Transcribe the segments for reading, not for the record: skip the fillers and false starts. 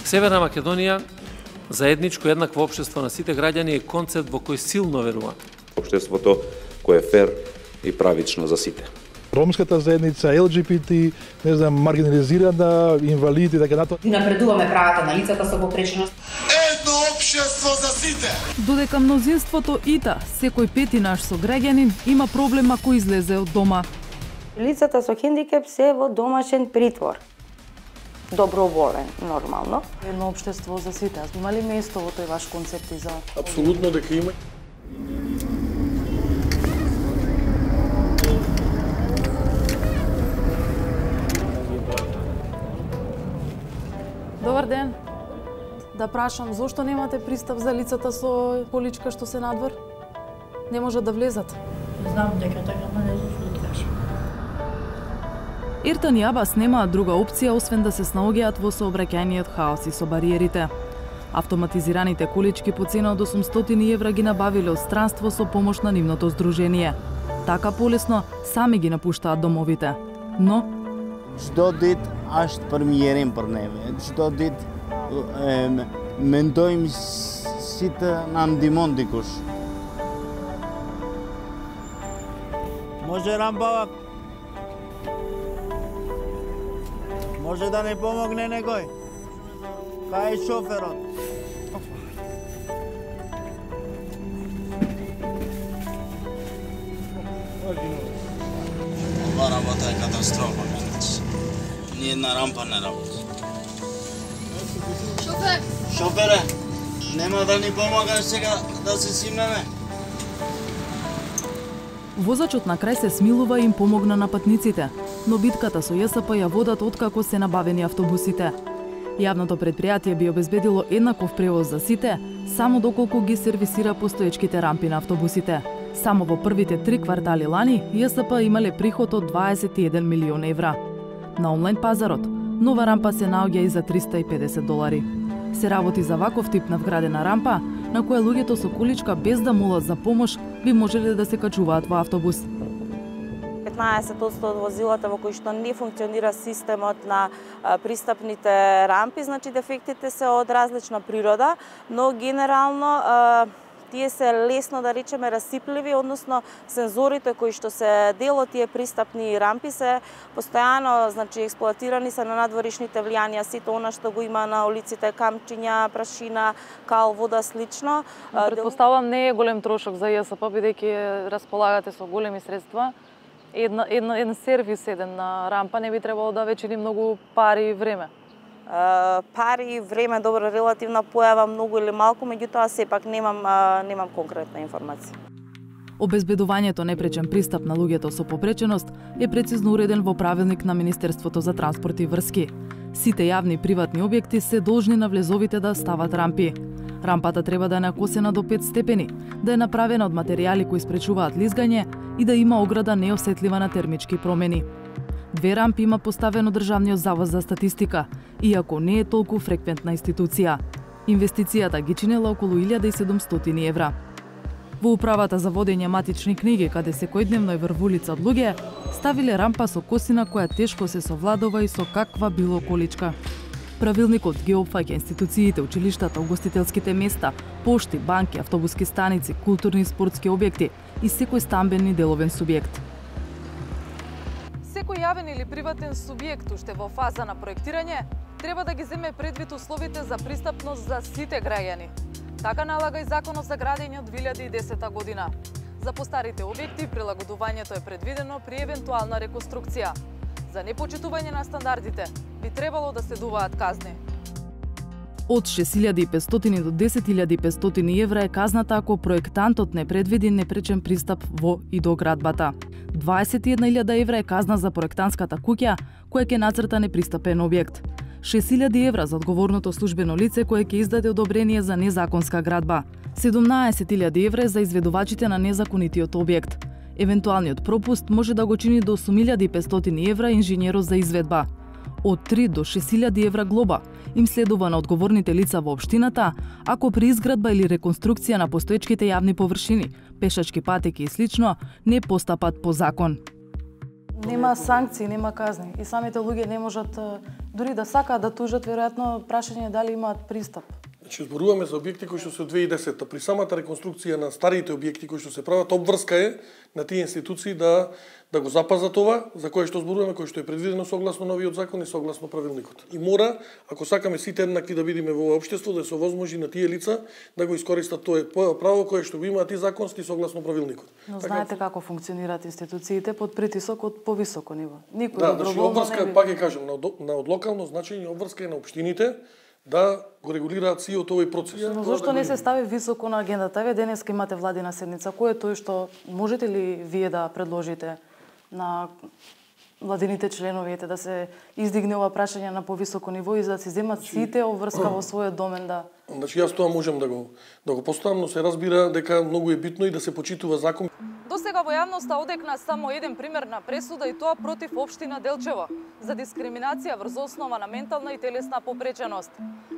Северна Македонија, заедничко еднакво општество на сите граѓани е концепт во кој силно верува. Општеството кое е фер и правично за сите. Ромската заедница, ЛГБТ, маргинализирана, инвалиди и така натаму. Напредуваме правата на лицата со попреченост. Едно општество за сите. Додека мнозинството ИТА, секој пети наш сограѓанин има проблем ако излезе од дома. Лицата со хендикеп се во домашен притвор. Доброволен, нормално. Едно општество за сите. Има ли место во тој ваш концепт и за... Апсолутно дека има. Добар ден. Да прашам, зошто немате пристап за лицата со количка што се надвор? Не можат да влезат. Знам дека така, но не зошто да кажам. Ертан и Абас немаат друга опција освен да се снаоѓаат во сообраќајниот хаос и со бариерите. Автоматизираните колички по цена од 800 евра ги набавиле од странство со помош на нивното здружение. Така полесно сами ги напуштаат домовите. Но çdo ditë është përmirërim për neve. Çdo ditë mendojmë si të na ndihmon dikush. Može rampa, može da ne pomogne nekoj? Ka je šoferot? Ova работа е катастрофа, менец. Ни една рампа не работи. Шофер! Шофере, нема да ни помагаш сега да се симнеме? Возачот на крај се смилува и им помогна на патниците, но битката со ЈСП ја водат откако се набавени автобусите. Јавното предпријатие би обезбедило еднаков превоз за сите, само доколку ги сервисира постоечките рампи на автобусите. Само во првите 3 квартали лани, ЈСП имале приход од 21 милион евра. На онлайн пазарот, нова рампа се наоѓа и за $350. Се работи за ваков тип на вградена рампа, на која луѓето со количка без да молат за помош би можеле да се качуваат во автобус. 15% од возилата во кои што не функционира системот на пристапните рампи, значи дефектите се од различна природа, но генерално тие се лесно да речеме расипливи, односно сензорите кои што се дел од тие пристапни рампи се постојано, значи експлоатирани се на надворешните влијанија, сето она што го има на улиците, камчиња, прашина, кал, вода, слично. Претпоставувам не е голем трошок за ЈСП, бидејќи располагате со големи средства. Еден сервис, една рампа не би требало да вечери многу пари и време. Пари, време, добро, релативна појава, многу или малку, меѓутоа сепак немам конкретна информација. Обезбедувањето непречен пристап на луѓето со попреченост е прецизно уреден во правилник на Министерството за транспорт и врски. Сите јавни и приватни објекти се должни на влезовите да стават рампи. Рампата треба да е накосена до 5 степени, да е направена од материјали кои спречуваат лизгање и да има ограда неосетлива на термички промени. 2 рампи има поставено Државниот завод за статистика, иако не е толку фреквентна институција. Инвестицијата ги чинела околу 1700 евра. Во управата за водење матични книги, каде секојдневно е врвулица од луѓе, ставиле рампа со косина која тешко се совладува и со каква било количка. Правилникот ги опфаќа институциите, училиштата, угостителските места, пошти, банки, автобуски станици, културни и спортски објекти и секој стамбен и деловен субјект. Секој јавен или приватен субјект уште во фаза на проектирање треба да ги земе предвид условите за пристапност за сите граѓани. Така налага и Законот за градење од 2010 година. За постарите објекти прилагодувањето е предвидено при евентуална реконструкција. За непочитување на стандардите би требало да следуваат казни. Од 6.500 до 10.500 евра е казната ако проектантот не предвиди непречен пристап во и до градбата. 21.000 евра е казна за проектантската куќа која ќе нацрта непристапен објект. 6.000 евра за одговорното службено лице кое ќе издаде одобрение за незаконска градба. 17.000 евра за изведувачите на незаконитиот објект. Евентуалниот пропуст може да го чини до 8.500 евра инженерот за изведба. Од 3 до 6.000 евра глоба им следува на одговорните лица во општината, ако при изградба или реконструкција на постоечките јавни површини, пешачки патеки и слично, не постапат по закон. Нема санкции, нема казни и самите луѓе не можат дури да сакаат да тужат, веројатно прашање е дали имаат пристап. Значи, зборуваме за објекти кои што се од 2010-та. При самата реконструкција на старите објекти кои што се прават, обврска е на тие институции да го запазат ова, за кое што зборуваме, кое што е предвидено согласно новиот закон и согласно правилникот. И мора, ако сакаме сите еднакви да бидеме во ова општество, да се овозможи на тие лица да го искористат тоа право кое што го имаат и законски согласно правилникот. Но знаете како функционираат институциите под притисок од повисоко ниво. Никој значи обврска, пак ќе кажам, на од локално значење обврска е на општините да го регулираат сиот овој процес. Но зошто не се стави високо на агендата? Еве денеска имате владина седница. Кој е тој што можете ли вие да предложите на владините членови да се издигне ова прашање на повисоко ниво и за да се земат сите обврска во својот домен да... Значи јас тоа можам да го поставам, но се разбира дека многу е битно и да се почитува закон. Досега во јавноста одекна само еден пример на пресуда и тоа против општина Делчево за дискриминација врз основа на ментална и телесна попреченост.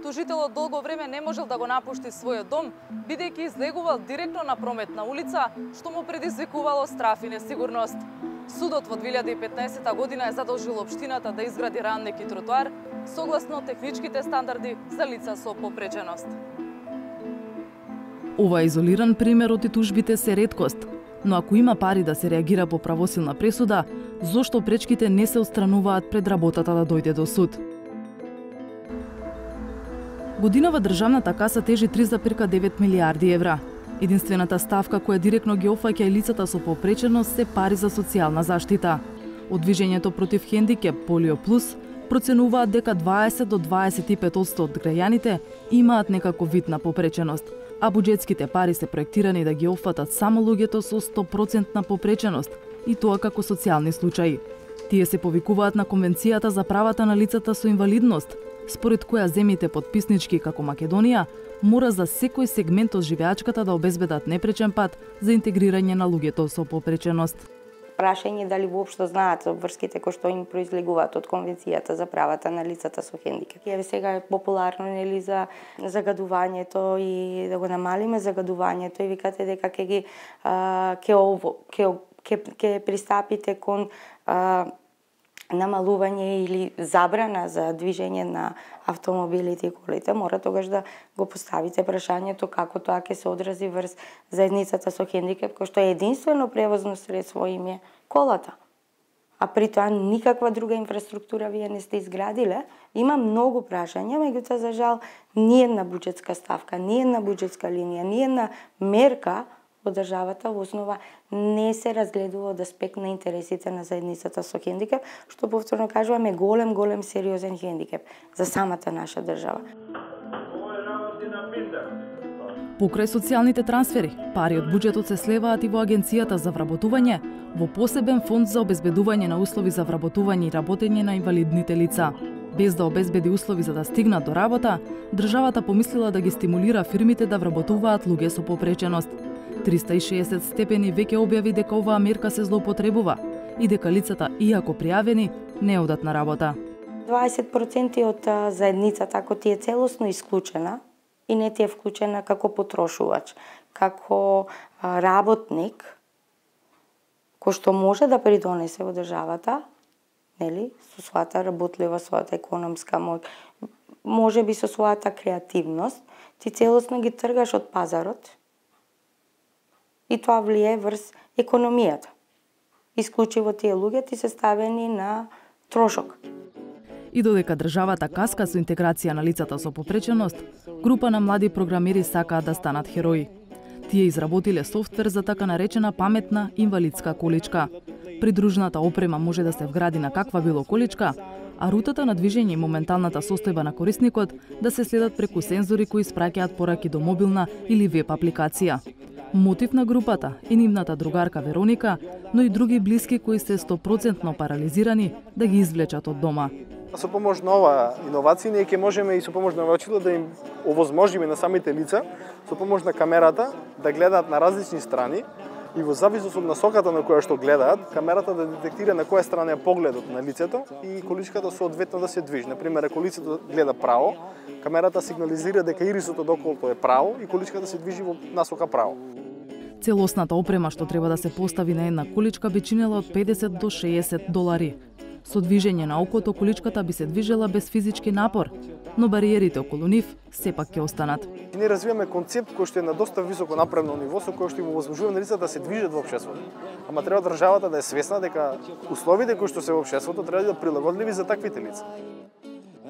Тужителот долго време не можел да го напушти својот дом, бидејќи излегувал директно на прометна улица, што му предизвикувало страф и несигурност. Судот во 2015 година е задолжил општината да изгради рамник и тротоар согласно техничките стандарди за лица со попреченост. Ова изолиран пример од тужбите се реткост, но ако има пари да се реагира по правосилна пресуда, зошто пречките не се отстрануваат пред работата да дојде до суд? Годинава државната каса тежи 3,9 милиарди евра. Единствената ставка која директно ги опфаќа и лицата со попреченост се пари за социјална заштита. Од движењето против хендикеп Полио Плюс проценуваат дека 20 до 25% од граѓаните имаат некаков вид на попреченост, а буџетските пари се проектирани да ги опфатат само луѓето со 100% попреченост, и тоа како социјални случаи. Тие се повикуваат на Конвенцијата за правата на лицата со инвалидност, според која земјите потписнички како Македонија мора за секој сегмент од живеачката да обезбедат непречен пат за интегрирање на луѓето со попреченост. Прашање дали воопшто знаат обврските кои што им произлегуваат од Конвенцијата за правата на лицата со хендикеп. Еве сега е популарно нели за загадувањето и да го намалиме загадувањето и викате дека ќе пристапите кон намалување или забрана за движење на автомобилите и колите, мора тогаш да го поставите прашањето како тоа ќе се одрази врз заедницата со хендикеп, кој што е единствено превозно средство им е колата. А при тоа никаква друга инфраструктура вие не сте изградиле. Има многу прашања, меѓутоа за жал ни една буџетска ставка, ни една буџетска линија, ни една мерка во државата во основа не се разгледува од аспект на интересите на заедницата со хендикеп, што повторно кажуваме голем сериозен хендикеп за самата наша држава. Покрај социјалните трансфери, пари од буџетот се слеваат и во Агенцијата за вработување, во посебен фонд за обезбедување на услови за вработување и работење на инвалидните лица. Без да обезбеди услови за да стигнат до работа, државата помислила да ги стимулира фирмите да вработуваат луѓе со попреченост. 360 степени веќе објави дека оваа мерка се злоупотребува и дека лицата, иако пријавени, не одат на работа. 20% од заедницата, ако ти е целосно исклучена и не ти е вклучена како потрошувач, како работник, кој што може да придонесе во државата, нели, со својата работлива, својата економска моќ, може би со својата креативност, ти целосно ги тргаш од пазарот и тоа влие врз економијата. Исклучиво тие луѓе ти се ставени на трошок. И додека државата каска со интеграција на лицата со попреченост, група на млади програмери сакаат да станат херои. Тие изработиле софтвер за така наречена паметна инвалидска количка. Придружната опрема може да се вгради на каква било количка, а рутата на движење и моменталната состојба на корисникот да се следат преку сензори кои испраќаат пораки до мобилна или веб апликација. Мотив на групата е нивната другарка Вероника, но и други блиски кои се 100% парализирани да ги извлечат од дома. Со помош на ова иновација ние ќе можеме и со помош на очило да им овозможиме на самите лица со помош на камерата да гледаат на различни страни и во зависност од насоката на која што гледаат, камерата да детектира на која страна е погледот на лицето и количката соодветно да се движи. Например, ако лицето гледа право, камерата сигнализира дека ирисот од околото е право и количката се движи во насока право. Целосната опрема што треба да се постави на една количка би чинела од 50 до 60 долари. Со движење на окото количката би се движела без физички напор, но бариерите околу нив сепак ќе останат. И ние развиваме концепт кој што е на доста високо напредно ниво, со кој што им овозможува на лицата да се движат во општеството. Ама треба државата да е свесна дека условите кои што се во општеството треба да бидат прилагодливи за таквите лица.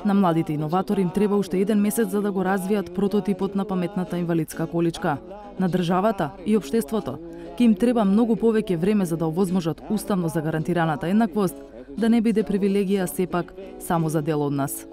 На младите иноватори им треба уште 1 месец за да го развијат прототипот на паметната инвалидска количка. На државата и општеството ќе им треба многу повеќе време за да овозможат уставно загарантираната еднаквост, да не биде привилегија сепак само за дел од нас.